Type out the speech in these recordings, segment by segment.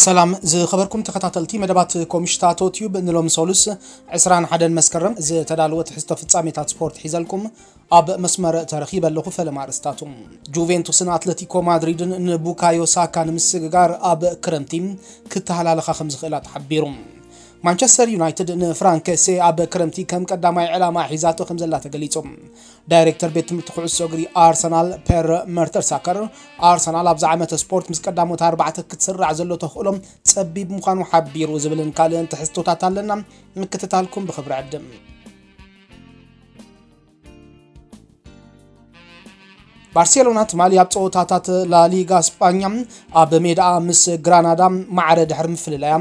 ሰላም ዝኸበርኩም ተኸታተልቲ መደባት ኮምሽታቶ ቲዩብ፣ ንሎም ሶሉስ ዕስራን ሓደን መስከረም ዝተዳለወ ትሕዝቶ ፍጻሜታት ስፖርት ሒዘልኩም ኣብ መስመር ተረኺበ ኣለኹ። ፈለማ ኣርእስታቱ። ጁቬንቱስን ኣትለቲኮ ማድሪድን ንቡካዮ ሳካ ንምስግጋር ኣብ ክረምቲ ክተሃላለኻ ከም ዝኽእላ ተሓቢሩ። ማንቸስተር ዩናይትድ ንፍራንክ ሴ ኣብ ክረምቲ ከም ቀዳማይ ዕላማ ሒዛቶ ከም ዘላ ተገሊጹ። ዳይሬክተር ቤት ትምህርቲ ኩዕሶ እግሪ ኣርሰናል ፔር መርተርሳከር፣ ኣርሰናል ኣብዚ ዓመተ ስፖርት ምስ ቀዳሞት ኣርባዕተ ክትስራዕ ዘሎ ተኽእሎ ጸቢብ ምዃኑ ሓቢሩ ዝብልን ካልእን ትሕዝቶታት ኣለና። ምክትታልኩም ብኽብሪ ዕድም። ባርሴሎና ትማሊ ኣብ ጸወታታት ላሊጋ ስጳኛ ኣብ ሜዳኣ ምስ ግራናዳ ማዕረ ድሕሪ ምፍልላያ፣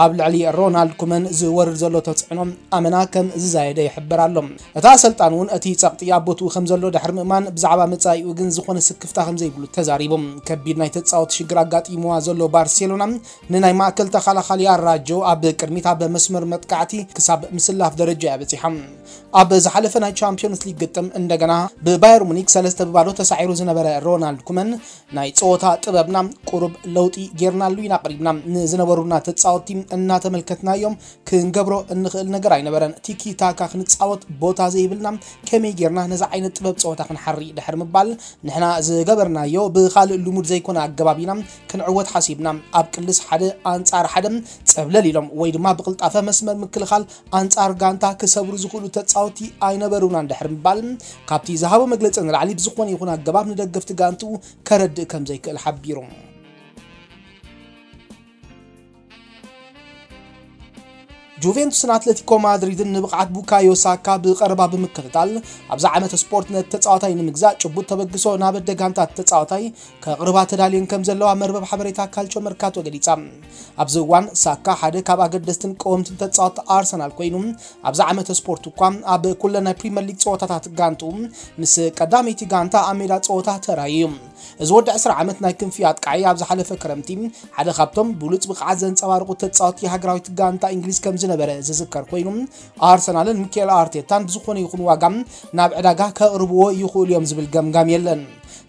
ኣብ ልዕሊ ሮናልድ ኩመን ዝወርድ ዘሎ ተጽዕኖ ኣመና ከም ዝዛየደ ይሕበር ኣሎ። እቲ ኣሰልጣን እውን እቲ ጸቕጢ ኣብ ቦትኡ ከም ዘሎ ድሕሪ ምእማን፣ ብዛዕባ መጻኢኡ ግን ዝኾነ ስክፍታ ከም ዘይብሉ ተዛሪቡ። ከቢድ ናይ ተጻወቲ ሽግር ኣጋጢምዋ ዘሎ ባርሴሎና፣ ንናይ ማእከል ተኸላኻሊ ኣራጆ ኣብ ቅድሚት ኣብ መስመር መጥቃዕቲ ክሳብ ምስላፍ ደረጃ እያ በጺሓ። ኣብ ዝሓለፈ ናይ ቻምፒዮንስ ሊግ ግጥም እንደገና ብባየር ሙኒክ ሰለስተ ብባዶ ተሳዒሩ ዝነበረ ሮናልድ ኩመን፣ ናይ ጸወታ ጥበብና ቁሩብ ለውጢ ጌርናሉ ኢና፣ ቀሪብና ንዝነበሩና ተጻወትቲ እናተመልከትናዮም ክንገብሮ እንኽእል ነገር ኣይነበረን። ቲኪ ታካ ክንጻወት ቦታ ዘይብልና፣ ከመይ ጌርና ነዚ ዓይነት ጥበብ ጸወታ ክንሓሪ ድሕሪ ምባል፣ ንሕና ዝገበርናዮ ብኻልእ ልሙድ ዘይኮነ ኣገባብ ኢና ክንዕወት ሓሲብና። ኣብ ቅልስ ሓደ ኣንጻር ሓደ ጸብለል ኢሎም ወይ ድማ ብቕልጣፈ መስመር ምክልኻል ኣንጻር ጋንታ ክሰብሩ ዝኽእሉ ተጻወቲ ኣይነበሩናን ድሕሪ ምባል፣ ካብቲ ዝሃቦ መግለጺ ንላዕሊ ብዝኾነ ይኹን ኣገባብ ንደገፍቲ ጋንትኡ ከረድእ ከም ዘይክእል ሓቢሩ። ጁቬንቱስን ኣትለቲኮ ማድሪድን ንብቕዓት ቡካዮ ሳካ ብቐረባ ብምክትታል፣ ኣብዚ ዓመት ስፖርት ነቲ ተጻዋታይ ንምግዛእ ጭቡጥ ተበግሶ ናብ ኣደ ጋንታ ተጻዋታይ ከቕርባ ተዳልየን ከም ዘለዋ መርበብ ሓበሬታ ካልቾ መርካቶ ገሊጻ። ኣብዚ እዋን ሳካ ሓደ ካብ ኣገደስትን ቀወምትን ተጻወትቲ ኣርሰናል ኮይኑ፣ ኣብዚ ዓመት ስፖርት እኳ ኣብ ኩለን ናይ ፕሪምየር ሊግ ጸወታታት ጋንትኡ ምስ ቀዳመይቲ ጋንታ ኣብ ሜዳ ጸወታ ተራእዩ እዩ። እዚ ወዲ ዕስራ ዓመት ናይ ክንፊ ኣጥቃዒ ኣብ ዝሓለፈ ክረምቲ ሓደ ካብቶም ብሉጽ ብቕዓት ዘንጸባርቑ ተጻወትቲ ሃገራዊት ጋንታ እንግሊዝ ከም ዝነበረ ዝዝከር ኮይኑ፣ ኣርሰናልን ሚኬል ኣርቴታን ብዝኾነ ይኹን ዋጋ ናብ ዕዳጋ ከቕርብዎ ይኽእሉ እዮም ዝብል ገምጋም የለን።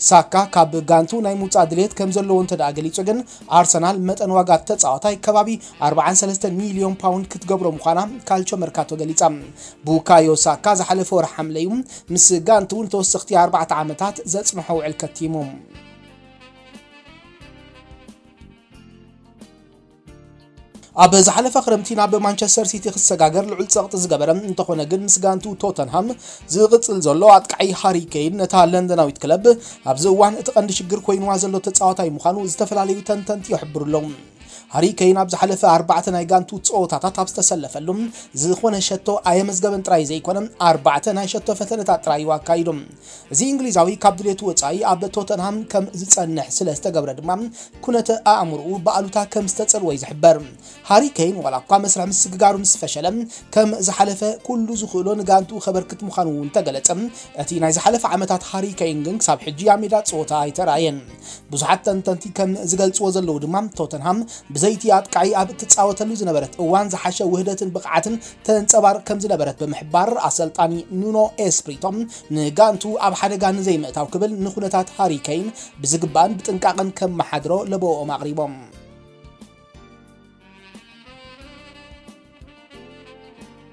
ሳካ ካብ ጋንቱ ናይ ምውጻእ ድሌት ከም ዘለዎ እንተ ደኣ ገሊጹ ግን፣ ኣርሰናል መጠን ዋጋ ተጻዋታይ ከባቢ ኣርባዓን ሰለስተን ሚልዮን ፓውንድ ክትገብሮ ምዃና ካልቾ መርካቶ ገሊጻ። ቡካዮ ሳካ ዝሓለፈ ወርሒ ሓምለ እዩ ምስ ጋንቱ ንተወሰኽቲ ኣርባዕተ ዓመታት ዘጽንሖ ውዕል ከቲሙ። ኣብ ዝሓለፈ ክረምቲ ናብ ማንቸስተር ሲቲ ክሰጋገር ልዑል ጸቕጢ ዝገበረ እንተኾነ ግን፣ ምስ ጋንቱ ቶተንሃም ዝቕጽል ዘሎ ኣጥቃዒ ሃሪ ኬን ነታ ለንደናዊት ክለብ ኣብዚ እዋን እቲ ቀንዲ ሽግር ኮይንዋ ዘሎ ተጻዋታይ ምዃኑ ዝተፈላለዩ ተንተንቲ ይሕብሩ ኣለዉ። ሃሪ ኬን ኣብ ዝሓለፈ ኣርባዕተ ናይ ጋንቱ ጸወታታት ኣብ ዝተሰለፈሉ ዝኾነ ሸቶ ኣየመዝገበን ጥራይ ዘይኮነ፣ ኣርባዕተ ናይ ሸቶ ፈተነታት ጥራይ እዩ ኣካይዱ። እዚ እንግሊዛዊ ካብ ድሌቱ ወጻኢ ኣብ ቶተንሃም ከም ዝጸንሕ ስለ ዝተገብረ ድማ፣ ኩነተ ኣእምሮኡ ብኣሉታ ከም ዝተጸልወ እዩ ዝሕበር። ሃሪ ኬን ዋላ እኳ መስርሕ ምስግጋሩ ምስ ፈሸለ፣ ከም ዝሓለፈ ኩሉ ዝኽእሎ ንጋንትኡ ከበርክት ምዃኑ እውን ተገለጸ። እቲ ናይ ዝሓለፈ ዓመታት ሃሪ ኬን ግን ክሳብ ሕጂ ኣብ ሜዳ ጸወታ ኣይተራእየን። ብዙሓት ተንተንቲ ከም ዝገልጽዎ ዘለዉ ድማ፣ ቶተንሃም ብዘይቲ ኣጥቃዒ ኣብ እትጻወተሉ ዝነበረት እዋን ዝሓሸ ውህደትን ብቕዓትን ተንጸባርቕ ከም ዝነበረት ብምሕባር፣ ኣሰልጣኒ ኑኖ ኤስፕሪቶ ንጋንቱ ኣብ ሓደጋ ንዘይምእታው ክብል ንኹነታት ሃሪ ኬን ብዝግባእን ብጥንቃቕን ከመሓድሮ ለበወኦም ኣቕሪቦም።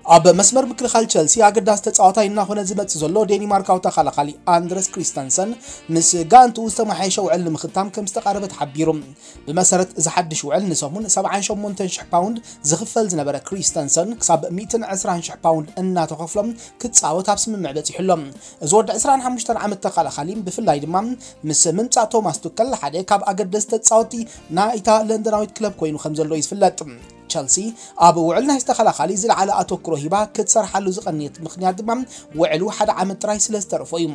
ኣብ መስመር ምክልኻል ቸልሲ ኣገዳሲ ተጻዋታይ እናኾነ ዝመጽእ ዘሎ ዴኒማርካዊ ተኸላኻሊ ኣንድረስ ክሪስተንሰን ምስ ጋንቱ ዝተመሓየሸ ውዕል ንምኽታም ከም ዝተቓረበ ተሓቢሩ። ብመሰረት እዚ ሓድሽ ውዕል ንሰሙን ሰብዓን ሸሞንተን ሽሕ ፓውንድ ዝኽፈል ዝነበረ ክሪስተንሰን ክሳብ ሚእትን ዕስራን ሽሕ ፓውንድ እናተኸፍሎም ክጻወት ኣብ ስምምዕ በጺሑ ኣሎ። እዚ ወዲ ዕስራን ሓሙሽተን ዓመት ተኸላኻሊ ብፍላይ ድማ ምስ ምምጻእ ቶማስ ቱከል ሓደ ካብ ኣገደስቲ ተጻወትቲ ናይታ ለንደናዊት ክለብ ኮይኑ ከም ዘሎ እዩ ዝፍለጥ። ቸልሲ ኣብ ውዕል ናይ ተኸላኻሊ ዝለዓለ ኣተኩሮ ሂባ ክትሰርሓሉ ዝቐንየት ምኽንያት ድማ ውዕሉ ሓደ ዓመት ጥራይ ስለ ዝተረፎ እዩ።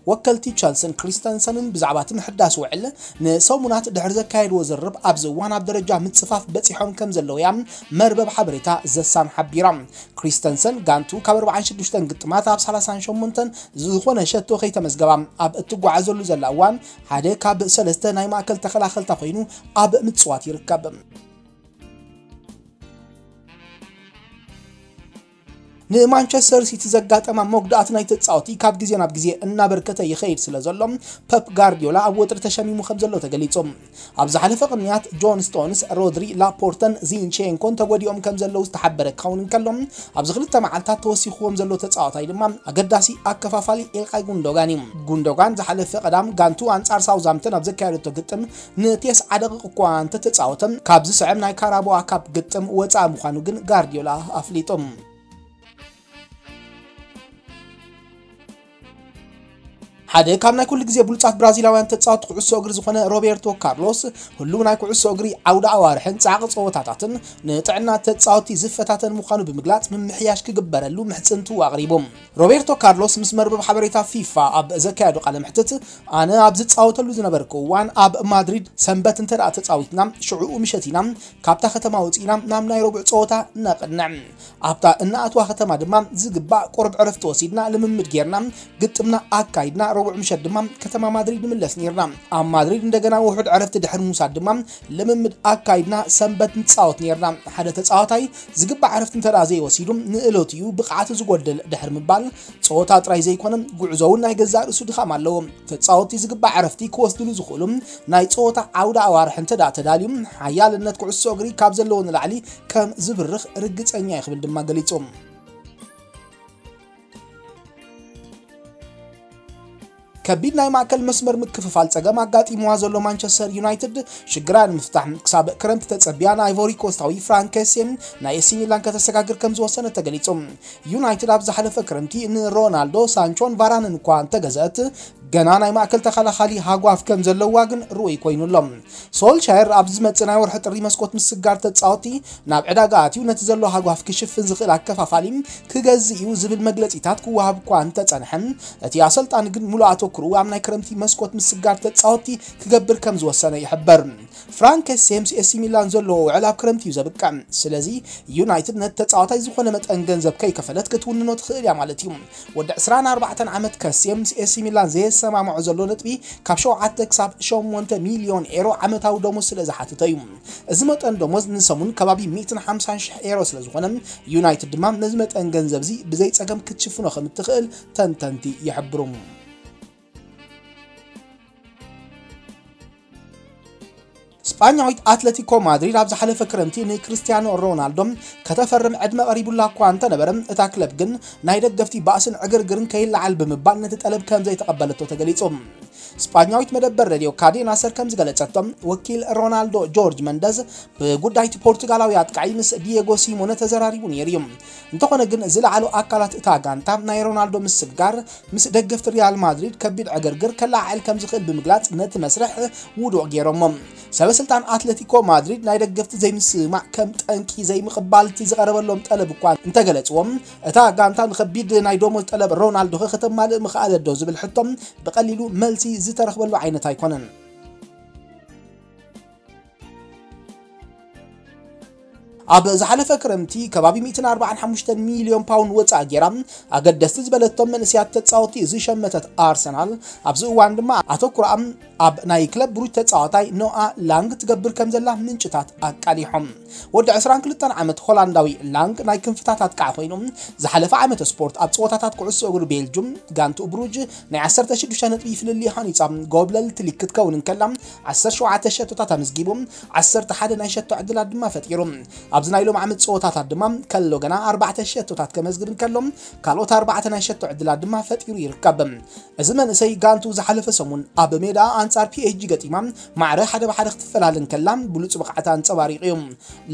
ወከልቲ ቸልስን ክሪስተንሰንን ብዛዕባ እቲ ምሕዳስ ውዕል ንሰሙናት ድሕሪ ዘካየድዎ ዝርርብ፣ ኣብዚ እዋን ኣብ ደረጃ ምጽፋፍ በጺሖም ከም ዘለዉ እያ መርበብ ሓበሬታ ዘሳን ሓቢራ። ክሪስተንሰን ጋንቱ ካብ ኣርባዓን ሽዱሽተን ግጥማት ኣብ ሰላሳን ሸሞንተን ዝኾነ ሸቶ ከይተመዝገባ ኣብ እትጓዓዘሉ ዘላ እዋን፣ ሓደ ካብ ሰለስተ ናይ ማእከል ተኸላኸልታ ኮይኑ ኣብ ምጽዋት ይርከብ። ንማንቸስተር ሲቲ ዘጋጠማ መጉዳእቲ ናይ ተጻወቲ ካብ ግዜ ናብ ግዜ እናበርከተ ይኸይድ ስለ ዘሎ፣ ፐፕ ጋርዲዮላ ኣብ ወጥሪ ተሸሚሙ ከም ዘሎ ተገሊጹ። ኣብ ዝሓለፈ ቅንያት፣ ጆን ስቶንስ፣ ሮድሪ፣ ላፖርተን ዚንቼንኮን ተጎዲኦም ከም ዘለዉ ዝተሓበረ ክኸውን እንከሎ፣ ኣብዚ ክልተ መዓልታት ተወሲኽዎም ዘሎ ተጻዋታይ ድማ ኣገዳሲ ኣከፋፋሊ ኢልካይ ጉንዶጋን እዩ። ጉንዶጋን ዝሓለፈ ቀዳም ጋንቱ ኣንጻር ሳውዝሃምፕተን ኣብ ዘካየደቶ ግጥም ንቴስዓ ደቂቕ እኳ እንተተጻወተ፣ ካብ ዝስዕብ ናይ ካራባኦ ካፕ ግጥም ወጻኢ ምዃኑ ግን ጋርዲዮላ ኣፍሊጡ። ሓደ ካብ ናይ ኩሉ ግዜ ብሉጻት ብራዚላውያን ተጻወቲ ኩዕሶ እግሪ ዝኾነ ሮቤርቶ ካርሎስ፣ ህሉው ናይ ኩዕሶ እግሪ ዓውደ ኣዋርሕን ጻዕቂ ጸወታታትን ንጥዕና ተጻወቲ ዝፈታተን ምዃኑ ብምግላጽ፣ ምምሕያሽ ክግበረሉ ምሕጽንትኡ ኣቕሪቡ። ሮቤርቶ ካርሎስ ምስ መርበብ ሓበሬታ ፊፋ ኣብ ዘካየዶ ቃለ መሕትት፣ ኣነ ኣብ ዝጻወተሉ ዝነበርኩ እዋን ኣብ ማድሪድ ሰንበት እንተ ደኣ ተጻዊትና፣ ሽዑኡ ምሸት ኢና ካብታ ከተማ ወጺእና ናብ ናይ ረቡዕ ጸወታ ነቕንዕ። ኣብታ እንኣትዋ ከተማ ድማ ዝግባእ ቁሩብ ዕረፍቲ ወሲድና ልምምድ ጌርና፣ ግጥምና ኣካይድና፣ ረቡዕ ምሸት ድማ ከተማ ማድሪድ ንምለስ ኔርና። ኣብ ማድሪድ እንደገና ውሑድ ዕረፍቲ ድሕሪ ምውሳድ ድማ ልምምድ ኣካይድና ሰንበት ንጻወት ኔርና። ሓደ ተጻዋታይ ዝግባእ ዕረፍቲ እንተ ደኣ ዘይወሲዱ፣ ንእለቱ እዩ ብቕዓቱ ዝጎድል ድሕሪ ምባል፣ ጸወታ ጥራይ ዘይኮነ፣ ጉዕዞ እውን ናይ ገዛእ ርእሱ ድኻም ኣለዎ። ተጻወትቲ ዝግባእ ዕረፍቲ ክወስድሉ ዝኽእሉ ናይ ጸወታ ዓውደ ኣዋርሕ እንተ ደኣ ተዳልዩ፣ ሓያልነት ኩዕሶ እግሪ ካብ ዘለዎ ንላዕሊ ከም ዝብርኽ ርግጸኛ እየ ክብል ድማ ገሊጹ። ከቢድ ናይ ማእከል መስመር ምክፍፋል ጸገም ኣጋጢምዋ ዘሎ ማንቸስተር ዩናይትድ ሽግራ ንምፍታሕ ክሳብ ክረምቲ ተጸቢያ ንኣይቮሪ ኮስታዊ ፍራንክ ኬሴ ናይ ኤሲ ሚላን ከተሰጋግር ከም ዝወሰነት ተገሊጹ። ዩናይትድ ኣብ ዝሓለፈ ክረምቲ ንሮናልዶ፣ ሳንቾን ቫራንን እኳ እንተገዘአት፣ ገና ናይ ማእከል ተኸላኻሊ ሃጓፍ ከም ዘለዋ ግን ርኡይ ኮይኑ ኣሎ። ሶልሻየር ኣብ ዝመጽእ ናይ ወርሒ ጥሪ መስኮት ምስጋር ተጻወቲ ናብ ዕዳጋ ኣትዩ ነቲ ዘሎ ሃጓፍ ክሽፍን ዝኽእል ኣከፋፋሊ ክገዝእ እዩ ዝብል መግለጺታት ክወሃብ እኳ እንተጸንሐ፣ እቲ ኣሰልጣኒ ግን ሙሉእ ኣተኩርኡ ኣብ ናይ ክረምቲ መስኮት ምስጋር ተጻወቲ ክገብር ከም ዝወሰነ ይሕበር። ፍራንክ ሴምስ ኤሲ ሚላን ዘለዎ ውዕል ኣብ ክረምቲ እዩ ዘብቅዕ። ስለዚ ዩናይትድ ነቲ ተጻዋታይ ዝኾነ መጠን ገንዘብ ከይከፈለት ክትውንኖ ትኽእል እያ ማለት እዩ። ወዲ ዕስራን ኣርባዕተን ዓመት ከሴም ምስ ኤሲ ሚላን ዘየሰማምዖ ዘሎ ነጥቢ ካብ ሸውዓተ ክሳብ ሸሞንተ ሚልዮን ኤሮ ዓመታዊ ደሞዝ ስለ ዝሓትቶ እዩ። እዚ መጠን ደሞዝ ንሰሙን ከባቢ ሚእትን ሓምሳን ሽሕ ኤሮ ስለ ዝኾነ፣ ዩናይትድ ድማ ነዚ መጠን ገንዘብ እዚ ብዘይ ጸገም ክትሽፍኖ ከም እትኽእል ተንተንቲ ይሕብሩ። ስጳኛዊት ኣትለቲኮ ማድሪድ ኣብ ዝሓለፈ ክረምቲ ንክርስቲያኖ ሮናልዶ ከተፈርም ዕድመ ቀሪቡላ እኳ እንተነበረ፣ እታ ክለብ ግን ናይ ደገፍቲ ባእስን ዕግርግርን ከይለዓል ብምባል ነቲ ጠለብ ከም ዘይተቐበለቶ ተገሊጹ። ስጳኛዊት መደበር ሬድዮ ካዴና ሰር ከም ዝገለጸቶ፣ ወኪል ሮናልዶ ጆርጅ መንደዝ ብጉዳይ እቲ ፖርቱጋላዊ ኣጥቃዒ ምስ ዲየጎ ሲሞነ ተዘራሪቡ ነይሩ እዩ። እንተኾነ ግን ዝለዓሉ ኣካላት እታ ጋንታ ናይ ሮናልዶ ምስግጋር ምስ ደገፍቲ ሪያል ማድሪድ ከቢድ ዕግርግር ከለዓዕል ከም ዝኽእል ብምግላጽ ነቲ መስርሕ ውዱቕ ገይሮሞ። ሰበ ስልጣን ኣትለቲኮ ማድሪድ ናይ ደገፍቲ ዘይምስምማዕ ከም ጠንቂ ዘይምቕባል እቲ ዝቐረበሎም ጠለብ እኳ እንተገለጽዎም፣ እታ ጋንታ ንኸቢድ ናይ ደሞዝ ጠለብ ሮናልዶ ኸ ከተማልእ ምኽኣለት ዶ ዝብል ሕቶ ብቐሊሉ መልሲ ዝተረኽበሉ ዓይነት ኣይኮነን። ኣብ ዝሓለፈ ክረምቲ ከባቢ ሚእትን ኣርባዓን ሓሙሽተን ሚልዮን ፓውንድ ወጻኢ ጌራ ኣገደስቲ ዝበለቶም መንእሰያት ተጻወቲ ዝሸመተት ኣርሰናል፣ ኣብዚ እዋን ድማ ኣተኩሮኣ ኣብ ናይ ክለብ ብሩጅ ተጻዋታይ ኖኣ ላንግ ትገብር ከም ዘላ ምንጭታት ኣቃሊሖም። ወዲ ዕስራን ክልተን ዓመት ሆላንዳዊ ላንግ ናይ ክንፍታት ኣጥቃዒ ኮይኑ፣ ዝሓለፈ ዓመተ ስፖርት ኣብ ጸወታታት ኩዕሶ እግሪ ቤልጁም ጋንትኡ ብሩጅ ናይ ዓሰርተ ሽዱሽተ ነጥቢ ፍልልይ ሃኒጻ ጎብለል ትሊክ ክትከውን እንከላ፣ ዓሰርተ ሸውዓተ ሸቶታት ኣመዝጊቡ፣ ዓሰርተ ሓደ ናይ ሸቶ ዕድላት ድማ ፈጢሩ። ኣብዚ ናይ ሎም ዓመት ጸወታታት ድማ ከሎ ገና ኣርባዕተ ሸቶታት ከመዝግብ እንከሎ፣ ካልኦት ኣርባዕተ ናይ ሸቶ ዕድላት ድማ ፈጢሩ ይርከብ። እዚ መንእሰይ ጋንቱ ዝሓለፈ ሰሙን ኣብ ሜዳ ኣንጻር ፒ ኤስ ጂ ገጢማ ማዕረ ሓደ ብሓደ ክትፈላለ እንከላ ብሉጽ ብቕዓት ኣንጸባሪቑ እዩ።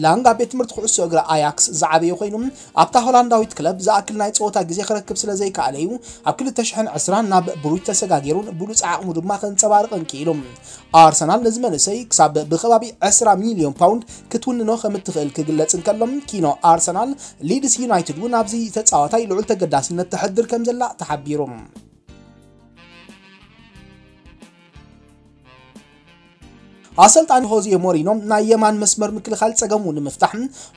ላንግ ኣብ ቤት ትምህርቲ ኩዕሶ እግሪ ኣያክስ ዝዓበየ ኮይኑ፣ ኣብታ ሆላንዳዊት ክለብ ዝኣክል ናይ ጸወታ ግዜ ክረክብ ስለ ዘይከኣለ እዩ ኣብ ክልተ ሽሕን ዕስራን ናብ ብሩጅ ተሰጋጊሩን ብሉጽ ዓቕሙ ድማ ከንጸባርቕን ክኢሉ። ኣርሰናል ነዚ መንእሰይ ክሳብ ብከባቢ ዕስራ ሚልዮን ፓውንድ ክትውንኖ ከም እትኽእል ክግለጽ እንከሎ፣ ኪኖ ኣርሰናል፣ ሊድስ ዩናይትድ እውን ኣብዚ ተጻዋታይ ልዑል ተገዳስነት ተሕድር ከም ዘላ ተሓቢሩ። ኣሰልጣኒ ሆዜ ሞሪኖ ናይ የማን መስመር ምክልኻል ጸገሙ ንምፍታሕ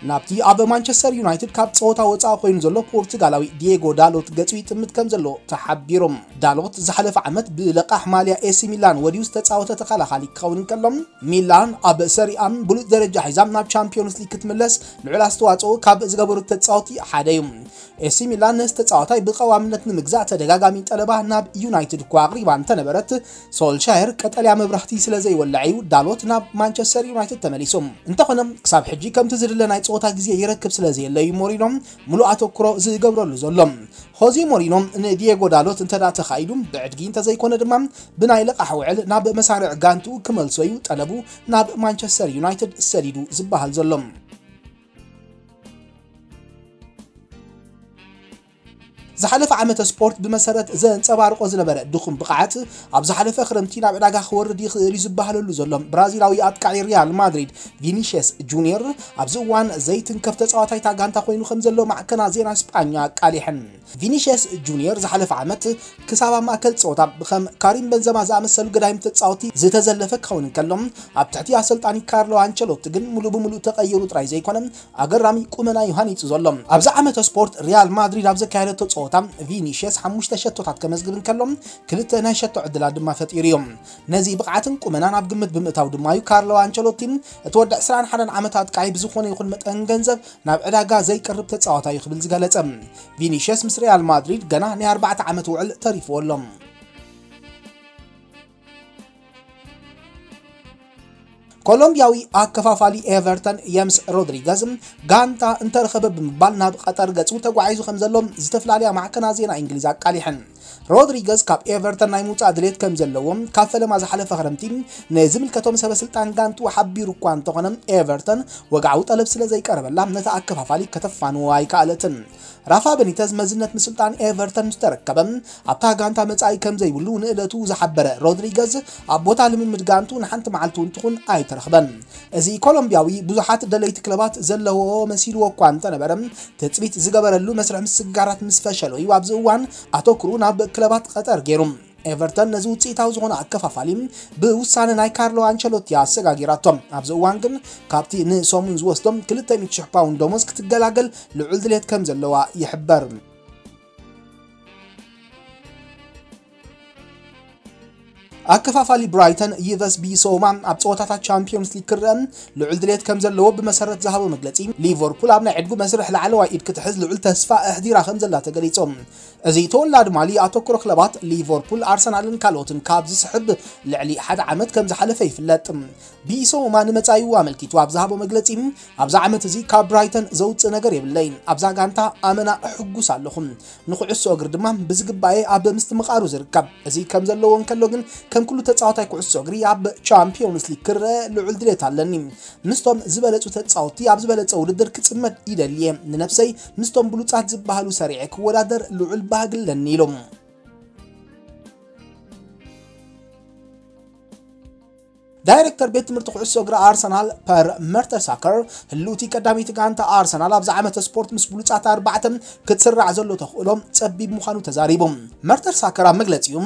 ናብቲ ኣብ ማንቸስተር ዩናይትድ ካብ ጸወታ ወጻኢ ኮይኑ ዘሎ ፖርቱጋላዊ ዲየጎ ዳሎት ገጹ ይጥምት ከም ዘሎ ተሓቢሩ። ዳሎት ዝሓለፈ ዓመት ብለቃሕ ማልያ ኤሲ ሚላን ወዲኡ ዝተጻወተ ተኸላኻሊ ክኸውን እንከሎ፣ ሚላን ኣብ ሰሪኣ ብሉጽ ደረጃ ሒዛ ናብ ቻምፒዮንስ ሊግ ክትምለስ ልዑል ኣስተዋጽኦ ካብ ዝገበሩ ተጻወቲ ሓደ እዩ። ኤሲ ሚላን ነዚ ተጻዋታይ ብቐዋምነት ንምግዛእ ተደጋጋሚ ጠለባ ናብ ዩናይትድ እኳ ኣቕሪባ እንተነበረት፣ ሶልሻየር ቀጠልያ መብራህቲ ስለ ዘይወልዕ እዩ ዳሎት ናብ ማንቸስተር ዩናይትድ ተመሊሱ። እንተኾነ፣ ክሳብ ሕጂ ከምቲ ዝድለ ናይ ጸወታ ግዜ ይረክብ ስለ ዘየለ እዩ ሞሪኖ ምሉእ ኣተኩሮ ዝገብረሉ ዘሎ። ሆዜ ሞሪኖ ንዲየጎ ዳሎት እንተ ደኣ ተኻኢሉ፣ ብዕድጊ እንተዘይኮነ ድማ ብናይ ልቓሕ ውዕል ናብ መሳርዕ ጋንቱ ክመልሶ እዩ ጠለቡ ናብ ማንቸስተር ዩናይትድ ሰዲዱ ዝበሃል ዘሎ። ዝሓለፈ ዓመተ ስፖርት ብመሰረት ዘንጸባርቆ ዝነበረ ድኹም ብቕዓት፣ ኣብ ዝሓለፈ ክረምቲ ናብ ዕዳጋ ክወርድ ይኽእል እዩ ዝበሃለሉ ዘሎ ብራዚላዊ ኣጥቃዒ ሪያል ማድሪድ ቪኒሽየስ ጁኒየር ኣብዚ እዋን ዘይትንከፍ ተጻዋታይ እታ ጋንታ ኮይኑ ከም ዘሎ ማዕከናት ዜና ስጳኛ ኣቃሊሐን። ቪኒሽየስ ጁኒየር ዝሓለፈ ዓመት ክሳብ ኣብ ማእከል ጸወታ ብከም ካሪም በንዘማ ዝኣመሰሉ ገዳይም ተጻወቲ ዝተዘለፈ ክኸውን እንከሎ፣ ኣብ ትሕቲ ኣሰልጣኒ ካርሎ ኣንቸሎቲ ግን ሙሉእ ብሙሉእ ተቐይሩ ጥራይ ዘይኮነ፣ ኣገራሚ ቁመና እዩ ሃኒጹ ዘሎ። ኣብዚ ዓመተ ስፖርት ሪያል ማድሪድ ኣብ ዘካየደቶ ጸወታ ቪኒሽየስ ሓሙሽተ ሸቶታት ከመዝግብ እንከሎ፣ ክልተ ናይ ሸቶ ዕድላት ድማ ፈጢሩ እዩ። ነዚ ብቕዓትን ቁመናን ኣብ ግምት ብምእታው ድማ እዩ ካርሎ ኣንቸሎቲ እቲ ወዲ ዕስራን ሓደን ዓመት ኣጥቃዒ ብዝኾነ ይኹን መጠን ገንዘብ ናብ ዕዳጋ ዘይቀርብ ተጻዋታይ እዩ ክብል ዝገለጸ። ቪኒሽየስ ምስ ሪያል ማድሪድ ገና ናይ ኣርባዕተ ዓመት ውዕል ተሪፍዎ ኣሎ። ኮሎምቢያዊ ኣከፋፋሊ ኤቨርተን የምስ ሮድሪገዝ ጋንታ እንተረኸበ ብምባል ናብ ቀጠር ገጹ ተጓዒዙ ከም ዘሎ ዝተፈላለያ ማዕከናት ዜና እንግሊዝ ኣቃሊሐን። ሮድሪገዝ ካብ ኤቨርተን ናይ ምውጻእ ድሌት ከም ዘለዎም ካብ ፈለማ ዝሓለፈ ክረምቲ ንዝምልከቶም ሰበ ስልጣን ጋንቱ ሓቢሩ እኳ እንተኾነ፣ ኤቨርተን ወግዓዊ ጠለብ ስለ ዘይቀረበላ ነቲ ኣከፋፋሊ ከተፋንዎ ኣይከኣለትን። ራፋ በኒተዝ መዝነት ምስልጣን ኤቨርተን ምስ ተረከበ፣ ኣብታ ጋንታ መጻኢ ከም ዘይብሉ ንእለቱ ዝሓበረ ሮድሪገዝ፣ ኣብ ቦታ ልምምድ ጋንቱ ንሓንቲ መዓልቲ እውን ትኹን ኣይተረኽበን። እዚ ኮሎምቢያዊ ብዙሓት ደለይቲ ክለባት ዘለውዎ መሲልዎ እኳ እንተነበረ፣ ትጽቢት ዝገበረሉ መስርሕ ምስግጋራት ምስ ፈሸሎ እዩ ኣብዚ እዋን ኣተኩሩ ናብ ክለባት ቀጠር ገይሩ። ኤቨርተን ነዚ ውጽኢታዊ ዝኾነ ኣከፋፋሊ ብውሳነ ናይ ካርሎ ኣንቸሎቲ ኣሰጋጊራቶ። ኣብዚ እዋን ግን ካብቲ ንሰሙን ዝወስዶም ክልተ ሚእቲ ሽሕ ፓውንድ ደሞዝ ክትገላገል ልዑል ድሌት ከም ዘለዋ ይሕበር። ኣከፋፋሊ ብራይተን ይቨስ ቢሶማ ኣብ ጸወታታት ቻምፒዮንስ ሊግ ክረአ ልዑል ድሌት ከም ዘለዎ ብመሰረት ዝሃቦ መግለጺ፣ ሊቨርፑል ኣብ ናይ ዕድጉ መስርሕ ላዕለዋይ ኢድ ክትሕዝ ልዑል ተስፋ ኣሕዲራ ከም ዘላ ተገሊጹ። እዚ ተወላዲ ማሊ ኣተኩሮ ክለባት ሊቨርፑል፣ ኣርሰናልን ካልኦትን ካብ ዝስሕብ ልዕሊ ሓደ ዓመት ከም ዝሓለፈ ይፍለጥ። ቢሶማ ንመጻኢኡ ኣመልኪቱ ኣብ ዝሃቦ መግለጺ፣ ኣብዚ ዓመት እዚ ካብ ብራይተን ዘውጽእ ነገር የብለይን። ኣብዛ ጋንታ ኣመና እሕጉስ ኣለኹ። ንኩዕሶ እግሪ ድማ ብዝግባኤ ኣብ ምስትምቓሩ ዝርከብ። እዚ ከም ዘለዎ እንከሎ ግን፣ ከም ኩሉ ተጻዋታይ ኩዕሶ እግሪ ኣብ ቻምፒዮንስ ሊግ ክረአ ልዑል ድሌት ኣለኒ። ምስቶም ዝበለጹ ተጻወትቲ ኣብ ዝበለጸ ውድድር ክጽመድ ይደልየ። ንነብሰይ ምስቶም ብሉጻት ዝበሃሉ ሰሪዐ ክወዳደር ልዑል ባህጊ ኣለኒ ኢሉ። ዳይሬክተር ቤት ትምህርቲ ኩዕሶ እግሪ ኣርሰናል ፐር መርተሳከር፣ ህልውቲ ቀዳመይቲ ጋንታ ኣርሰናል ኣብዚ ዓመተ ስፖርት ምስ ብሉጻት ኣርባዕተ ክትስራዕ ዘሎ ተኽእሎ ጸቢብ ምዃኑ ተዛሪቡ። መርተሳከር ኣብ መግለጺኡ፣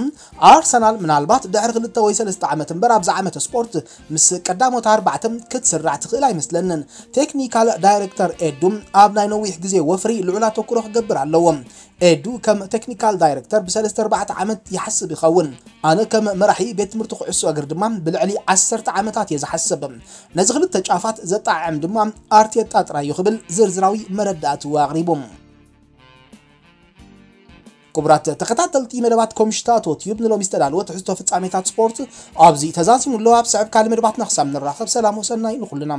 ኣርሰናል ምናልባት ድሕሪ ክልተ ወይ ሰለስተ ዓመት እምበር ኣብዚ ዓመተ ስፖርት ምስ ቀዳሞት ኣርባዕተ ክትስራዕ ትኽእል ኣይመስለንን። ቴክኒካል ዳይሬክተር ኤዱ ኣብ ናይ ነዊሕ ግዜ ወፍሪ ልዑል ኣተኩሮ ክገብር ኣለዎ። ኤዱ ከም ቴክኒካል ዳይሬክተር ብሰለስተ ኣርባዕተ ዓመት ይሓስብ ይኸውን። ኣነ ከም መራሒ ቤት ትምህርቲ ኩዕሶ እግሪ ድማ ብልዕሊ ዓሰርተ ዓመታት እየ ዝሓስብ። ነዚ ክልተ ጫፋት ዘጣዕዕም ድማ ኣርቴጣ ጥራይ እዩ ክብል ዝርዝራዊ መረዳእትኡ ኣቕሪቡ። ክቡራት ተኸታተልቲ መደባት ኮምሽታቶ ቲዩብ፣ ንሎሚ ዝተዳለወ ትሕዝቶ ፍጻሜታት ስፖርት ኣብዚ ተዛዚሙ ኣሎ። ኣብ ስዕብ ካልእ መደባትና ክሳብ ንራኸብ፣ ሰላም ወሰናይ ንኹልና።